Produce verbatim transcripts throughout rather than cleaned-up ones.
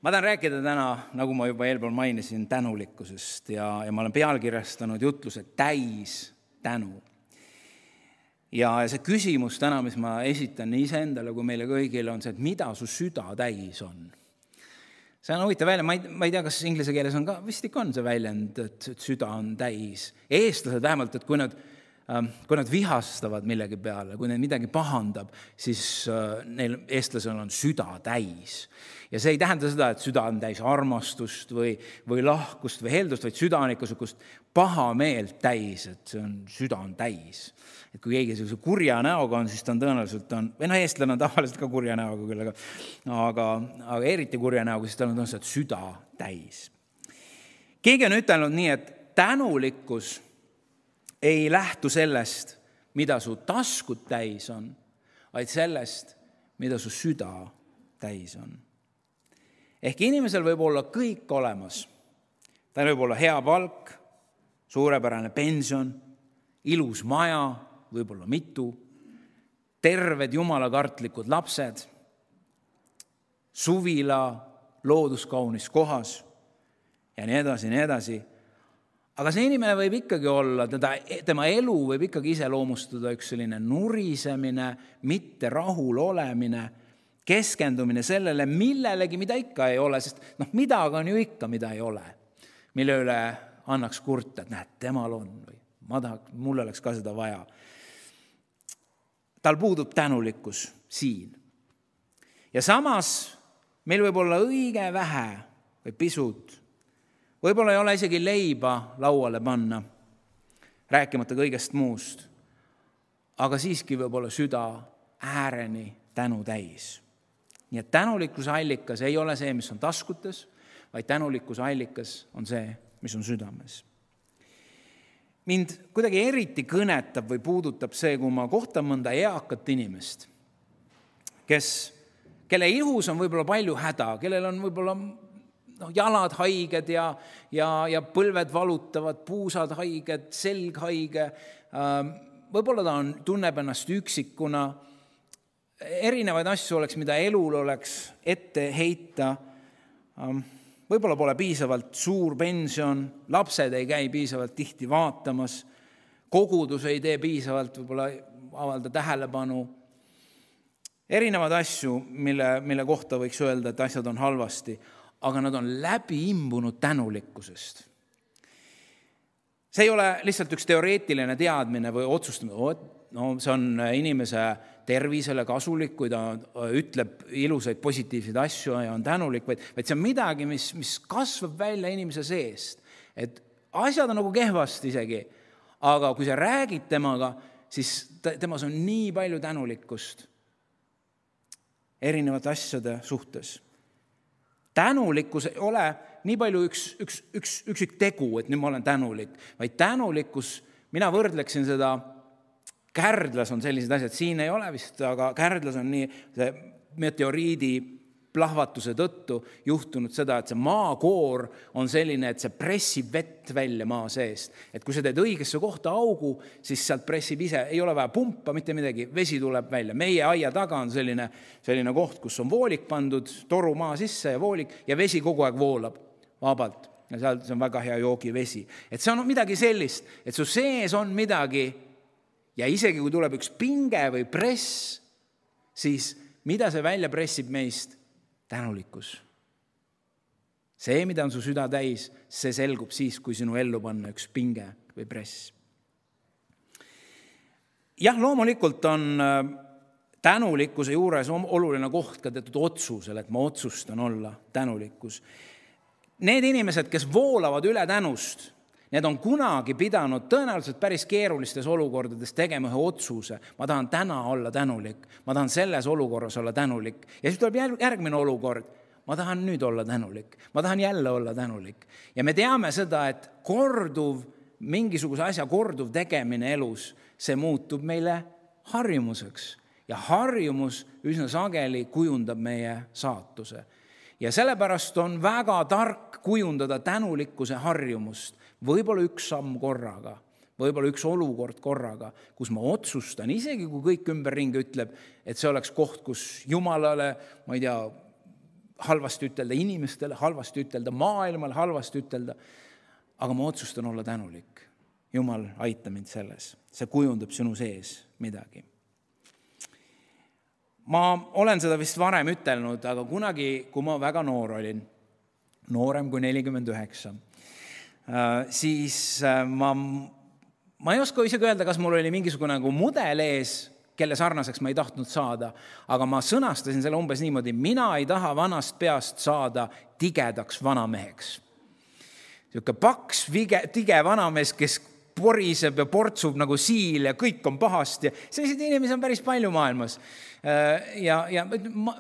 Ma tahan rääkida täna, nagu ma juba eelpool mainisin, tänulikkusest ja, ja ma olen pealkirjastanud jutluse täis tänu. Ja see küsimus täna, mis ma esitan nii iseendale kui meile kõigile, on see, et mida su süda täis on. See on huvitav välja, ma ei, ma ei tea, kas inglise keeles on ka, vist ikka on see väljend, et süda on täis. Eestlased vähemalt, et kui nad, kui nad vihastavad millegi peale, kui neid midagi pahandab, siis neil eestlasel on süda täis. Ja see ei tähenda seda, et süda on täis armastust või, või lahkust või heldust, vaid süda on ikka sukust paha meelt täis, et see on, süda on täis. Et kui keegi sellise kurja näoga on, siis ta on tõenäoliselt on, või no eestlane on tavaliselt ka kurja näoga küll, aga, aga, aga eriti kurja näoga, siis ta on tõenäoliselt süda täis. Keegi on ütelnud nii, et tänulikkus ei lähtu sellest, mida su taskud täis on, vaid sellest, mida su süda täis on. Ehk inimesel võib olla kõik olemas. Ta võib olla hea palk, suurepärane pension, ilus maja, võib-olla mitu, terved jumalakartlikud lapsed, suvila looduskaunis kohas ja nii edasi, nii edasi. Aga see inimene võib ikkagi olla, teda, tema elu võib ikkagi iseloomustada üks selline nurisemine, mitte rahul olemine, keskendumine sellele, millelegi, mida ikka ei ole, sest noh, midagi on ju ikka, mida ei ole, mille üle annaks kurta, et näed, temal on või ma tahaks, mul oleks ka seda vaja. Tal puudub tänulikkus siin. Ja samas meil võib olla õige vähe või pisut, võib-olla ei ole isegi leiba lauale panna, rääkimata kõigest muust, aga siiski võib olla süda ääreni tänu täis. Nii et tänulikkuse allikas ei ole see, mis on taskutes, vaid tänulikkuse allikas on see, mis on südames. Mind kuidagi eriti kõnetab või puudutab see, kui ma kohtan mõnda eakat inimest, kes, kelle ihus on võib-olla palju häda, kellel on võib-olla no, jalad haiged ja, ja, ja põlved valutavad, puusad haiged, selg haige. Võib-olla ta on, tunneb ennast üksikuna. Erinevaid asju oleks, mida elul oleks ette heita. Võib-olla pole piisavalt suur pension, lapsed ei käi piisavalt tihti vaatamas, kogudus ei tee piisavalt, võib-olla avalda tähelepanu. Erinevaid asju, mille, mille kohta võiks öelda, et asjad on halvasti, aga nad on läbi imbunud tänulikkusest. See ei ole lihtsalt üks teoreetiline teadmine või otsustamine, no see on inimese tervisele kasulik, kui ta ütleb ilusaid positiivseid asju ja on tänulik, vaid, vaid see on midagi, mis, mis kasvab välja inimese seest. Et asjad on nagu kehvasti isegi, aga kui sa räägid temaga, siis temas on nii palju tänulikkust erinevate asjade suhtes. Tänulikkus ei ole nii palju üks, üks, üks, üksik tegu, et nüüd ma olen tänulik, vaid tänulikkus, mina võrdleksin seda. Kärdlas on sellised asjad, siin ei ole vist, aga Kärdlas on nii see meteoriidi plahvatuse tõttu juhtunud seda, et see maakoor on selline, et see pressib vett välja maa seest. Et kui sa teed õigesse kohta augu, siis sealt pressib ise, ei ole vaja pumpa, mitte midagi, vesi tuleb välja. Meie aia taga on selline, selline koht, kus on voolik pandud, toru maa sisse ja voolik ja vesi kogu aeg voolab vabalt. Ja seal see on väga hea joogivesi. Et see on midagi sellist, et su sees on midagi. Ja isegi kui tuleb üks pinge või press, siis mida see välja pressib meist? Tänulikkus. See, mida on su süda täis, see selgub siis, kui sinu ellu panna üks pinge või press. Jah, loomulikult on tänulikkuse juures oluline koht ka teatud otsusel, et ma otsustan olla tänulikkus. Need inimesed, kes voolavad üle tänust, need on kunagi pidanud tõenäoliselt päris keerulistes olukordades tegema ühe otsuse. Ma tahan täna olla tänulik. Ma tahan selles olukorras olla tänulik. Ja siis tuleb järgmine olukord. Ma tahan nüüd olla tänulik. Ma tahan jälle olla tänulik. Ja me teame seda, et korduv, mingisuguse asja korduv tegemine elus, see muutub meile harjumuseks. Ja harjumus üsna sageli kujundab meie saatuse. Ja sellepärast on väga tark kujundada tänulikkuse harjumust. Võib-olla üks samm korraga, võib-olla üks olukord korraga, kus ma otsustan, isegi kui kõik ümberringi ütleb, et see oleks koht, kus Jumalale, ma ei tea, halvasti ütelda inimestele, halvasti ütelda maailmale, halvasti ütelda, aga ma otsustan olla tänulik. Jumal, aita mind selles. See kujundab sinu sees midagi. Ma olen seda vist varem ütelnud, aga kunagi, kui ma väga noor olin, noorem kui nelikümmend üheksa, siis ma, ma ei oska isegi öelda, kas mul oli mingisugune nagu mudel ees, kelle sarnaseks ma ei tahtnud saada, aga ma sõnastasin selle umbes niimoodi, mina ei taha vanast peast saada tigedaks vanameheks. Siuke paks, vige, tige vanamees, kes poriseb ja portsub nagu siil ja kõik on pahasti. Selliseid inimesi on päris palju maailmas. Ja, ja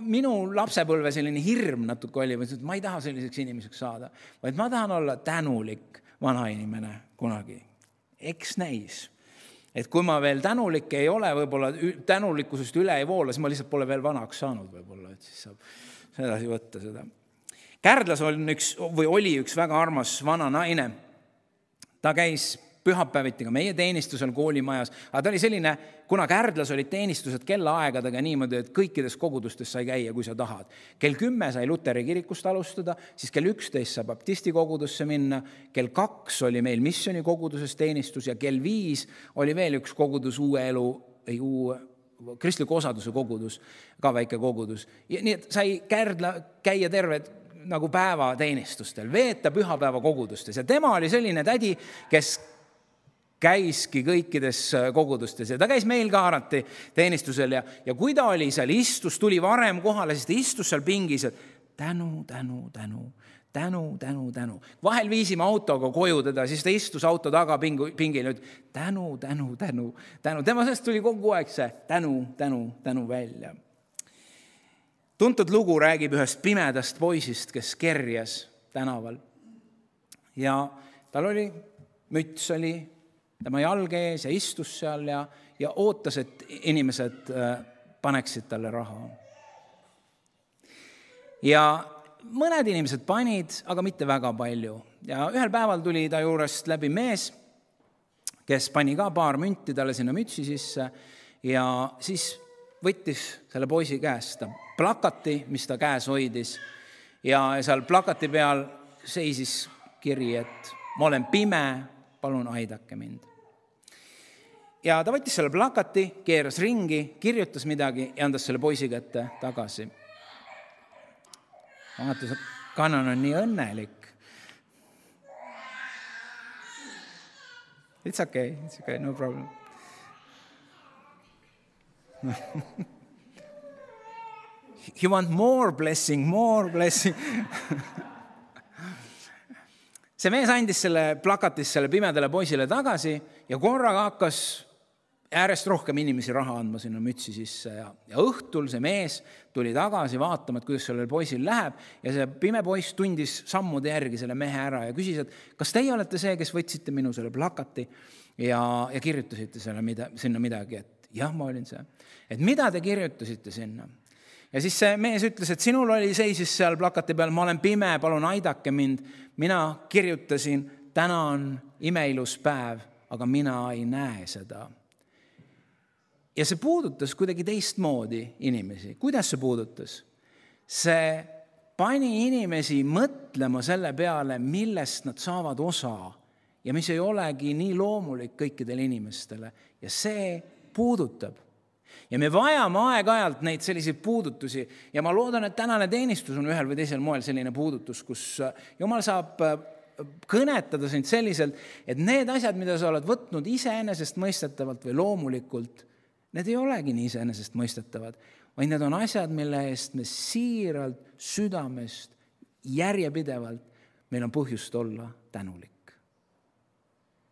minu lapsepõlve selline hirm natuke oli, et ma ei taha selliseks inimeseks saada, vaid ma tahan olla tänulik vanainimene kunagi. Eks näis. Et kui ma veel tänulik ei ole, võib-olla tänulikkusest üle ei voola, siis ma lihtsalt pole veel vanaks saanud võib-olla, et siis saab edasi võtta seda. Kärdlas on üks, või oli üks väga armas vana naine. Ta käis pühapäeviti ka meie teenistusel koolimajas, aga ta oli selline, kuna Kärdlas olid teenistused kellaaegadega niimoodi, et kõikides kogudustes sai käia, kui sa tahad. Kell kümme sai Luteri kirikust alustada, siis kell üksteist sai baptisti kogudusse minna, kell kaks oli meil missioni koguduses teenistus ja kell viis oli veel üks kogudus uue elu, ei uue, kristliku osaduse kogudus, ka väike kogudus. Ja nii et sai Kärdla käia terved nagu päeva teenistustel, veeta pühapäeva kogudustes ja tema oli selline tädi, kes käiski kõikides kogudustes ja ta käis meil ka arati teenistusel ja, ja kui ta oli seal istus, tuli varem kohale, siis ta istus seal pingis, et tänu, tänu, tänu, tänu, tänu, tänu. Vahel viisime autoga koju teda, siis ta istus auto taga pingil, et tänu, tänu, tänu, tänu. Tema sellest tuli kogu aeg see tänu, tänu, tänu välja. Tuntud lugu räägib ühest pimedast poisist, kes kerjas tänaval ja tal oli, müts oli tema jalge ees ja istus seal ja, ja ootas, et inimesed paneksid talle raha. Ja mõned inimesed panid, aga mitte väga palju. Ja ühel päeval tuli ta juurest läbi mees, kes pani ka paar münti talle sinna mütsi sisse ja siis võttis selle poisi käest plakati, mis ta käes hoidis ja seal plakati peal seisis kiri, et ma olen pime, palun aidake mind. Ja ta võttis selle plakati, keeras ringi, kirjutas midagi ja andas selle poisi kätte tagasi. Vaata, kanan on nii õnnelik. It's okay, it's okay, no problem. You want more blessing, more blessing. See mees andis selle plakatis selle pimedale poisile tagasi ja korraga hakkas äärest rohkem inimesi raha andma sinna mütsi sisse ja, ja õhtul see mees tuli tagasi vaatama, et kuidas sellel poisil läheb ja see pime poiss tundis sammude järgi selle mehe ära ja küsis, et kas teie olete see, kes võtsite minu selle plakati ja, ja kirjutasite selle mida, sinna midagi, et jah, ma olin see. Et mida te kirjutasite sinna? Ja siis see mees ütles, et sinul oli seisis seal plakati peal, ma olen pime, palun aidake mind. Mina kirjutasin, täna on imeilus päev, aga mina ei näe seda. Ja see puudutas kuidagi teistmoodi inimesi. Kuidas see puudutas? See pani inimesi mõtlema selle peale, millest nad saavad osa ja mis ei olegi nii loomulik kõikidele inimestele. Ja see puudutab. Ja me vajame aeg-ajalt neid selliseid puudutusi ja ma loodan, et tänane teenistus on ühel või teisel moel selline puudutus, kus Jumal saab kõnetada sind selliselt, et need asjad, mida sa oled võtnud iseenesest mõistetavalt või loomulikult, need ei olegi nii iseenesest mõistetavad, vaid need on asjad, mille eest me siiralt, südamest, järjepidevalt meil on põhjust olla tänulik.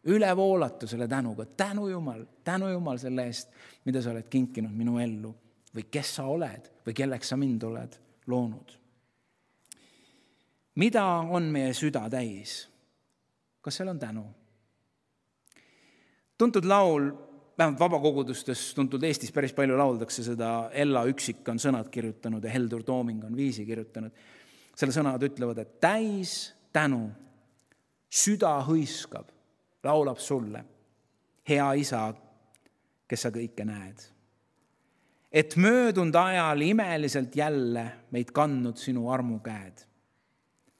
Üle voolatu selle tänuga. Tänu Jumal, tänu Jumal selle eest, mida sa oled kinkinud minu ellu või kes sa oled või kelleks sa mind oled loonud. Mida on meie süda täis? Kas seal on tänu? Tuntud laul, vähemalt vabakogudustes tuntud Eestis päris palju lauldakse seda, Ella Üksik on sõnad kirjutanud ja Heldur Tooming on viisi kirjutanud. Selle sõnad ütlevad, et täis tänu, süda hõiskab, laulab sulle, hea isa, kes sa kõike näed. et möödunud ajal imeliselt jälle meid kandnud sinu armukäed.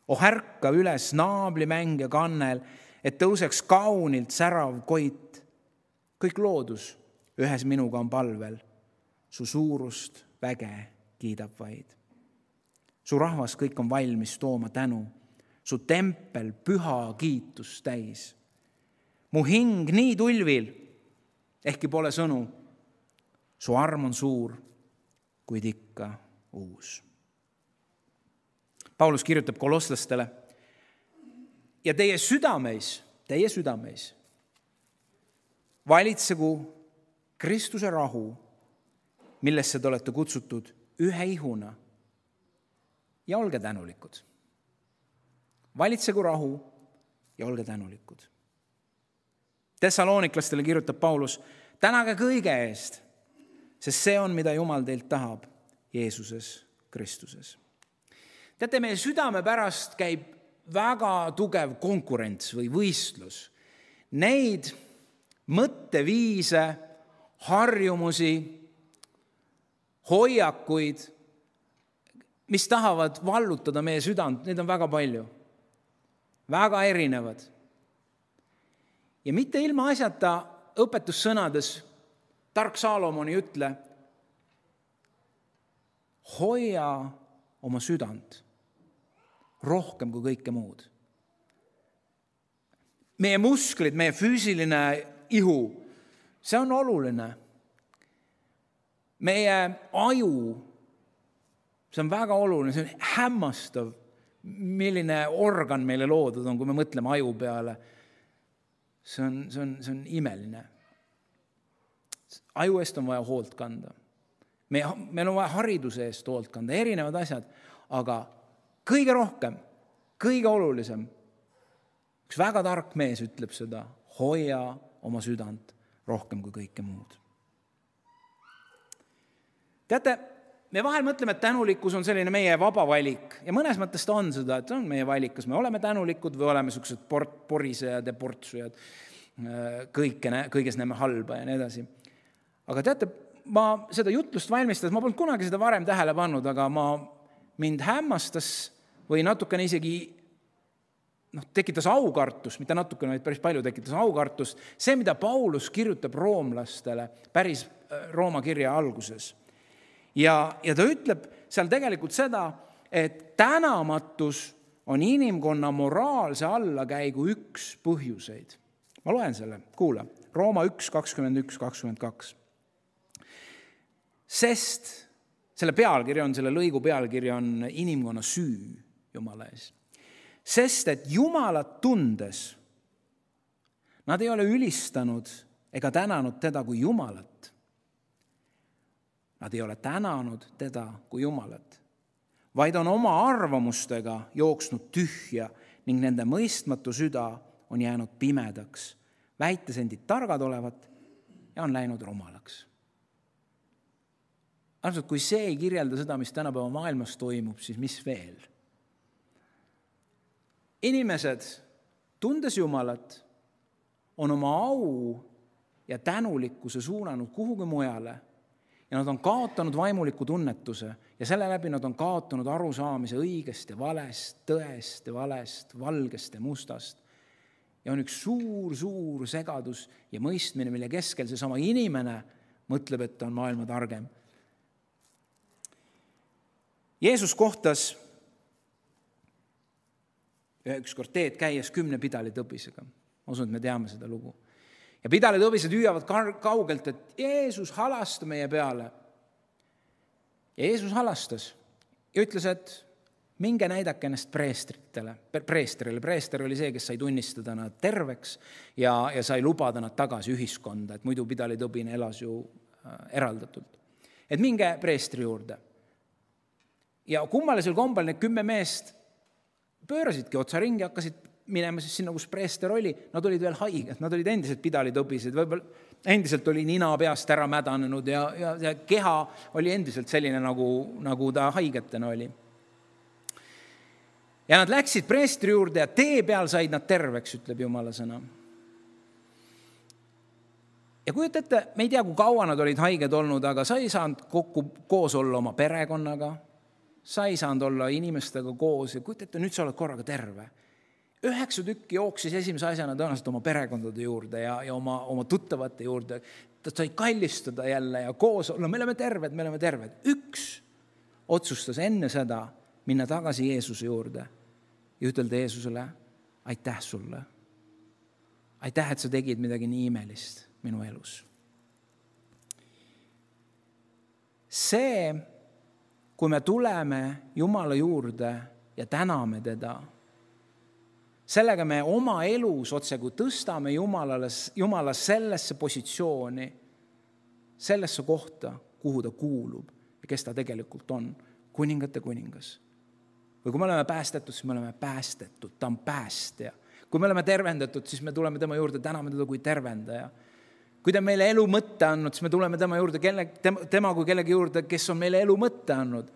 Oh ärka üles naablimäng ja kannel, et tõuseks kaunilt särav koit. Kõik loodus ühes minuga on palvel, su suurust väge kiidab vaid. Su rahvas kõik on valmis tooma tänu, su tempel püha kiitus täis. Mu hing nii tulvil, ehkki pole sõnu, su arm on suur, kuid ikka uus. Paulus kirjutab kolosslastele, ja teie südameis, teie südameis valitsegu Kristuse rahu, millesse te olete kutsutud ühe ihuna, ja olge tänulikud. Valitsegu rahu ja olge tänulikud. Thessaloniklastele kirjutab Paulus, tänage kõige eest, sest see on, mida Jumal teilt tahab Jeesuses Kristuses. Teate, meie südame pärast käib väga tugev konkurents või võistlus. Neid mõtteviise, harjumusi, hoiakuid, mis tahavad vallutada meie südant, neid on väga palju. Väga erinevad. Ja mitte ilma asjata õpetussõnades tark Saalomon ei ütle, hoia oma südant rohkem kui kõike muud. Meie musklid, meie füüsiline ihu, see on oluline. Meie aju, see on väga oluline, see on hämmastav, milline organ meile loodud on, kui me mõtleme aju peale. See on, see on, see on imeline. Aju eest on vaja hoolt kanda. Me, meil on vaja hariduse eest hoolt kanda, erinevad asjad, aga kõige rohkem, kõige olulisem, üks väga tark mees ütleb seda, hoia oma südant rohkem kui kõike muud. Teate, me vahel mõtleme, et tänulikkus on selline meie vaba valik ja mõnes mõttes ta on seda, et on meie valik, kas me oleme tänulikud või oleme sellised port, porisejad ja portsujad, kõike, kõiges näeme halba ja nii edasi. Aga teate, ma seda jutlust valmistades, ma polnud kunagi seda varem tähele pannud, aga ma mind hämmastas või natukene isegi noh, tekitas aukartust, mitte natukene, vaid päris palju tekitas aukartust, see, mida Paulus kirjutab roomlastele päris Rooma kirja alguses. Ja, ja ta ütleb seal tegelikult seda, et tänamatus on inimkonna moraalse allakäigu üks põhjuseid. Ma loen selle, kuula, Rooma üks, kakskümmend üks, kakskümmend kaks. Sest selle pealkiri on, selle lõigu pealkiri on inimkonna süü Jumala ees. Sest, et Jumalat tundes nad ei ole ülistanud ega tänanud teda kui Jumalat. Nad ei ole tänanud teda kui Jumalat, vaid on oma arvamustega jooksnud tühja ning nende mõistmatu süda on jäänud pimedaks, väites endid targad olevat ja on läinud rumalaks. Armsad, kui see ei kirjelda seda, mis tänapäeva maailmas toimub, siis mis veel? Inimesed, tundes Jumalat, on oma au ja tänulikkuse suunanud kuhugi mujale ja nad on kaotanud vaimuliku tunnetuse ja selle läbi nad on kaotanud arusaamise õigest ja valest, tõest ja valest, valgest ja mustast. Ja on üks suur, suur segadus ja mõistmine, mille keskel see sama inimene mõtleb, et ta on maailma targem. Jeesus kohtas ükskord teed käies kümne pidalitõbisega. Ma usun, et me teame seda lugu. Ja pidalitõbised hüüavad kaugelt, et Jeesus halasta meie peale. Ja Jeesus halastas ja ütles, et minge näidake ennast preestritele. Preesterile. Preester oli see, kes sai tunnistada nad terveks ja, ja sai lubada nad tagasi ühiskonda, et muidu pidalitõbine elas ju eraldatult. Et minge preestri juurde. Ja kummalisel kombel need kümme meest pöörasidki otsa ringi, hakkasid minema siis sinna, kus preester oli. Nad olid veel haiged, nad olid endiselt pidalitõbised, võib-olla endiselt oli nina peast ära mädanenud ja, ja, ja keha oli endiselt selline, nagu, nagu ta haigetena oli. Ja nad läksid preestri juurde ja tee peal said nad terveks, ütleb Jumala sõna. Ja kujutate, me ei tea, kui kaua nad olid haiged olnud, aga sa ei saanud kokku koos olla oma perekonnaga, sa ei saanud olla inimestega koos ja kujutate, nüüd sa oled korraga terve. Üheksa tükki jooksis esimese asjana tõenäoliselt oma perekondade juurde ja, ja oma, oma tuttavate juurde. Ta sai kallistada jälle ja koos olla, me oleme terved, me oleme terved. Üks otsustas enne seda minna tagasi Jeesuse juurde ja ütelda Jeesusele, aitäh sulle. Aitäh, et sa tegid midagi nii imelist minu elus. See, kui me tuleme Jumala juurde ja täname teda, sellega me oma elus otse kui tõstame Jumalale, Jumala sellesse positsiooni, sellesse kohta, kuhu ta kuulub ja kes ta tegelikult on, kuningate kuningas. Või kui me oleme päästetud, siis me oleme päästetud, ta on päästja. Kui me oleme tervendatud, siis me tuleme tema juurde, täname teda kui tervendaja. Kui ta meile elu mõtte andnud, siis me tuleme tema juurde, kelle, tema kui kellegi juurde, kes on meile elu mõtte andnud.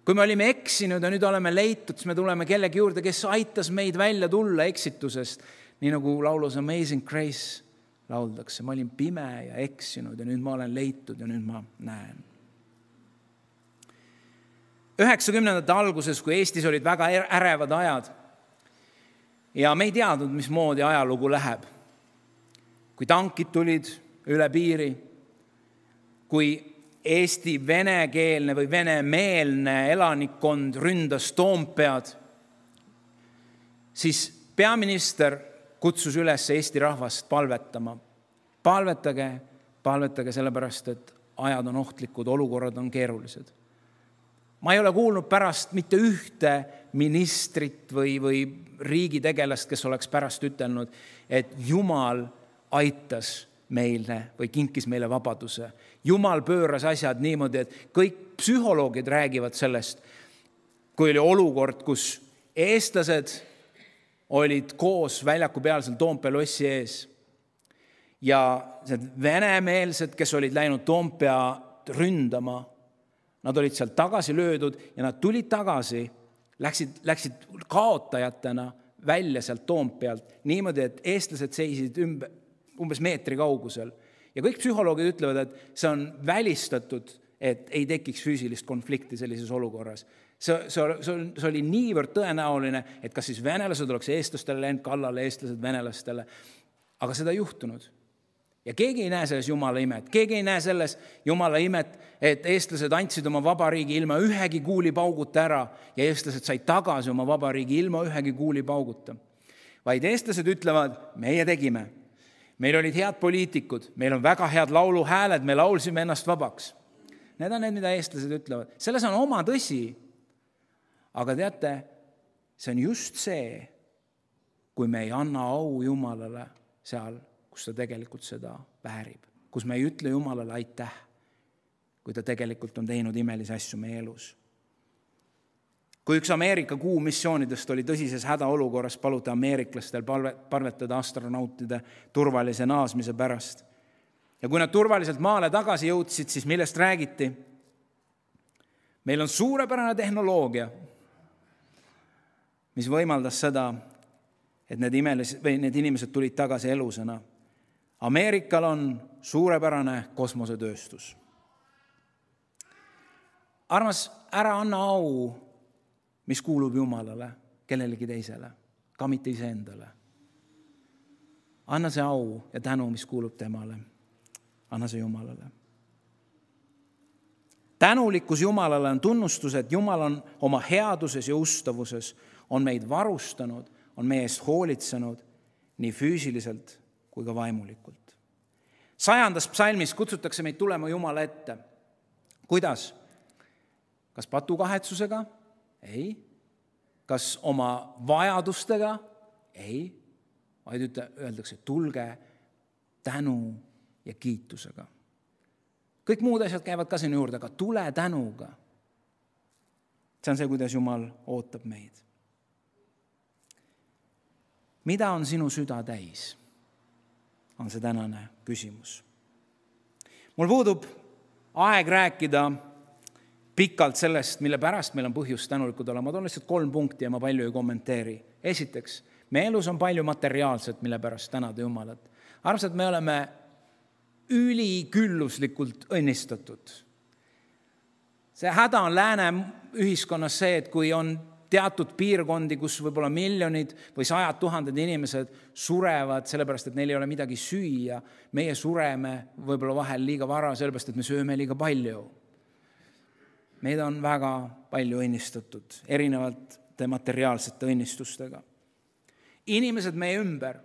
Kui me olime eksinud ja nüüd oleme leitud, siis me tuleme kellegi juurde, kes aitas meid välja tulla eksitusest. Nii nagu laulus Amazing Grace lauldakse. Ma olin pime ja eksinud ja nüüd ma olen leitud ja nüüd ma näen. üheksakümnendate alguses, kui Eestis olid väga ärevad ajad ja me ei teadnud, mismoodi ajalugu läheb. Kui tankid tulid üle piiri, kui Eesti venekeelne või venemeelne elanikkond ründas Toompead, siis peaminister kutsus üles Eesti rahvast palvetama. Palvetage, palvetage sellepärast, et ajad on ohtlikud, olukorrad on keerulised. Ma ei ole kuulnud pärast mitte ühte ministrit või, või riigitegelast, kes oleks pärast ütelnud, et Jumal aitas meile või kinkis meile vabaduse. Jumal pööras asjad niimoodi, et kõik psühholoogid räägivad sellest, kui oli olukord, kus eestlased olid koos väljaku peal seal Toompea lossi ees ja venemeelsed, kes olid läinud Toompea ründama, nad olid seal tagasi löödud ja nad tulid tagasi, läksid, läksid kaotajatena välja sealt Toompealt niimoodi, et eestlased seisid ümber, umbes meetri kaugusel. Ja kõik psühholoogid ütlevad, et see on välistatud, et ei tekiks füüsilist konflikti sellises olukorras. See, see, see oli niivõrd tõenäoline, et kas siis venelased oleks eestlastele läinud kallale, eestlased venelastele. Aga seda ei juhtunud. Ja keegi ei näe selles Jumala imet. Keegi ei näe selles Jumala imet, et eestlased andsid oma vabariigi ilma ühegi kuulipauguta ära ja eestlased said tagasi oma vabariigi ilma ühegi kuulipauguta. Vaid eestlased ütlevad, meie tegime. Meil olid head poliitikud, meil on väga head lauluhääled, me laulsime ennast vabaks. Need on need, mida eestlased ütlevad. Selles on oma tõsi. Aga teate, see on just see, kui me ei anna au Jumalale seal, kus ta tegelikult seda väärib. Kus me ei ütle Jumalale aitäh, kui ta tegelikult on teinud imelisi asju meie elus. Kui üks Ameerika kuu missioonidest oli tõsises hädaolukorras, paluti ameeriklastel palvetada astronautide turvalise naasmise pärast. Ja kui nad turvaliselt maale tagasi jõudsid, siis millest räägiti? Meil on suurepärane tehnoloogia, mis võimaldas seda, et need, imelis, või need inimesed tulid tagasi elusena. Ameerikal on suurepärane kosmosetööstus. Armas, ära anna au, mis kuulub Jumalale, kellelegi teisele, ka mitte iseendale. Anna see au ja tänu, mis kuulub temale. Anna see Jumalale. Tänulikkus Jumalale on tunnustus, et Jumal on oma headuses ja ustavuses, on meid varustanud, on meie eest hoolitsenud nii füüsiliselt kui ka vaimulikult. Sajandas psalmis kutsutakse meid tulema Jumala ette. Kuidas? Kas patukahetsusega? Ei. Kas oma vajadustega? Ei. Vaid öeldakse, tulge tänu ja kiitusega. Kõik muud asjad käivad ka sinna juurde, aga tule tänuga. See on see, kuidas Jumal ootab meid. Mida on sinu süda täis? On see tänane küsimus. Mul puudub aeg rääkida pikalt sellest, mille pärast meil on põhjust tänulikud olla. Ma toon lihtsalt kolm punkti ja ma palju ei kommenteeri. Esiteks, me elus on palju materiaalset, mille pärast tänada Jumalat. Armsad, me oleme ülikülluslikult õnnistatud. See häda on lääne ühiskonnas see, et kui on teatud piirkondi, kus võib-olla miljonid või sajad tuhanded inimesed surevad, sellepärast, et neil ei ole midagi süüa. Meie sureme võib-olla vahel liiga vara, sellepärast, et me sööme liiga palju. Meid on väga palju õnnistatud, erinevalt materiaalsete õnnistustega. Inimesed meie ümber.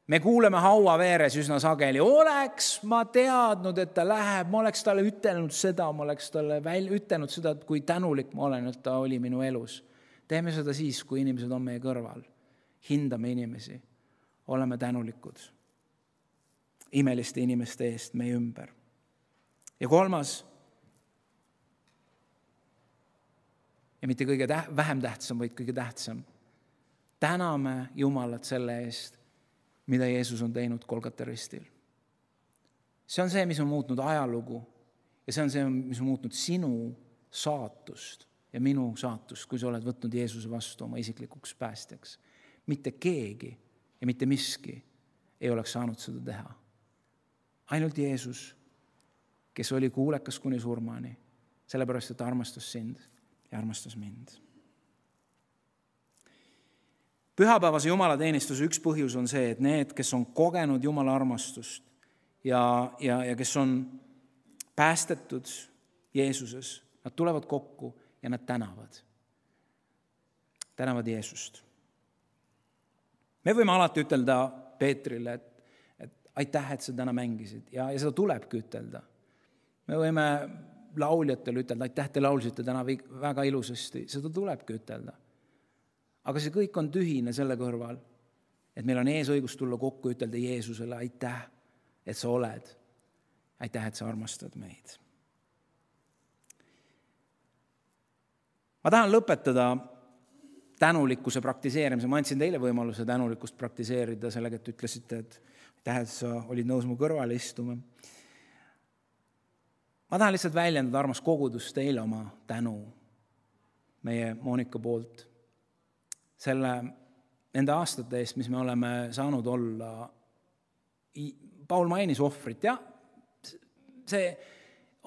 Me kuuleme haua veeres üsna sageli. Oleks ma teadnud, et ta läheb, ma oleks talle ütelnud seda, ma oleks talle väl, ütelnud seda, kui tänulik ma olen, et ta oli minu elus. Teeme seda siis, kui inimesed on meie kõrval. Hindame inimesi. Oleme tänulikud imeliste inimeste eest meie ümber. Ja kolmas, ja mitte kõige täht, vähem tähtsam, vaid kõige tähtsam. Täname Jumalat selle eest, mida Jeesus on teinud Golgata ristil. See on see, mis on muutnud ajalugu ja see on see, mis on muutnud sinu saatust ja minu saatust, kui sa oled võtnud Jeesuse vastu oma isiklikuks päästjaks. Mitte keegi ja mitte miski ei oleks saanud seda teha. Ainult Jeesus, kes oli kuulekas kuni surmani, sellepärast, et armastas sind ja armastas mind. Pühapäevase jumalateenistuse üks põhjus on see, et need, kes on kogenud Jumala armastust ja, ja, ja kes on päästetud Jeesuses, nad tulevad kokku ja nad tänavad. Tänavad Jeesust. Me võime alati ütelda Peetrile, et, et aitäh, et sa täna mängisid ja, ja seda tulebki ütelda. Me võime lauljatele ütelda, aitäh, te laulsite täna väga ilusasti, seda tulebki ütelda. Aga see kõik on tühine selle kõrval, et meil on ees õigus tulla kokku ja ütelda Jeesusele aitäh, et sa oled. Aitäh, et sa armastad meid. Ma tahan lõpetada tänulikkuse praktiseerimise. Ma andsin teile võimaluse tänulikkust praktiseerida sellega, et ütlesite, et aitäh, et sa olid nõus mu kõrvale istuma. Ma tahan lihtsalt väljendada armas kogudus teile oma tänu meie Monika poolt. Selle, nende aastate eest, mis me oleme saanud olla. Paul mainis ohvrit, ja see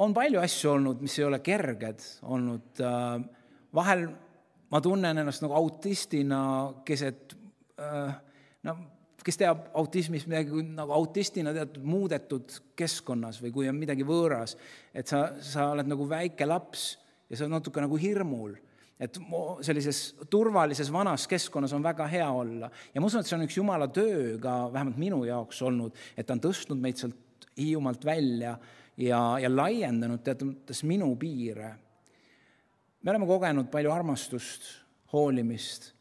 on palju asju olnud, mis ei ole kerged olnud. Vahel ma tunnen ennast nagu autistina, kes, et, no, kes teab autismis midagi nagu autistina teatud muudetud keskkonnas või kui on midagi võõras, et sa, sa oled nagu väike laps ja sa oled natuke nagu hirmul. Et sellises turvalises vanas keskkonnas on väga hea olla. Ja ma usun, et see on üks Jumala töö ka vähemalt minu jaoks olnud, et ta on tõstnud meid sealt Hiiumaalt välja ja, ja laiendanud teatud minu piire. Me oleme kogenud palju armastust, hoolimist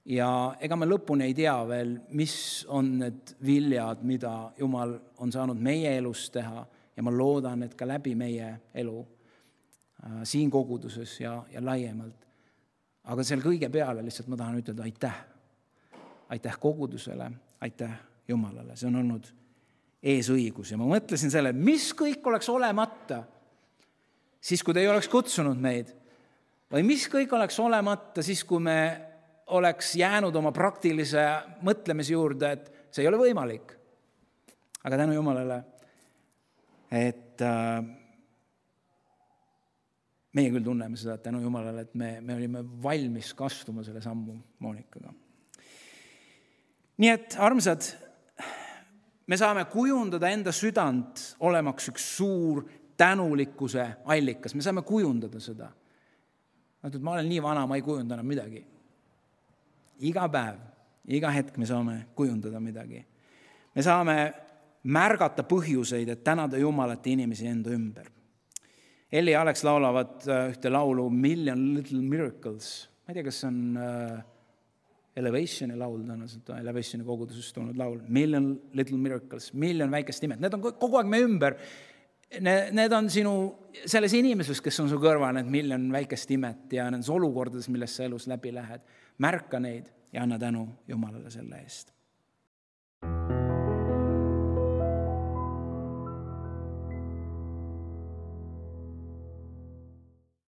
ja ega me lõpuni ei tea veel, mis on need viljad, mida Jumal on saanud meie elus teha ja ma loodan, et ka läbi meie elu äh, siin koguduses ja, ja laiemalt. Aga seal kõige peale lihtsalt ma tahan ütelda aitäh. Aitäh kogudusele, aitäh Jumalale. See on olnud eesõigus. Ja ma mõtlesin selle, mis kõik oleks olemata, siis kui te ei oleks kutsunud meid. Või mis kõik oleks olemata, siis kui me oleks jäänud oma praktilise mõtlemise juurde, et see ei ole võimalik. Aga tänu Jumalale, et äh, meie küll tunneme seda, et tänu Jumalale, et me, me olime valmis kastuma selle sammu Monikaga. Nii et, armsad, me saame kujundada enda südant olemaks üks suur tänulikkuse allikas. Me saame kujundada seda. Ma olen nii vana, ma ei kujunda enam midagi. Iga päev, iga hetk me saame kujundada midagi. Me saame märgata põhjuseid, et tänada Jumalat inimesi enda ümber. Elli ja Alex laulavad ühte laulu Million Little Miracles. Ma ei tea, kas on äh, Elevationi laul, tõenäoliselt Elevationi kogudusest tulnud laul. Million Little Miracles, miljon väikest imet. Need on kogu aeg me ümber. Need, need on sinu, selles inimeses, kes on su kõrval, need miljon väikest imet ja nendes olukordades, milles sa elus läbi lähed. Märka neid ja anna tänu Jumalale selle eest.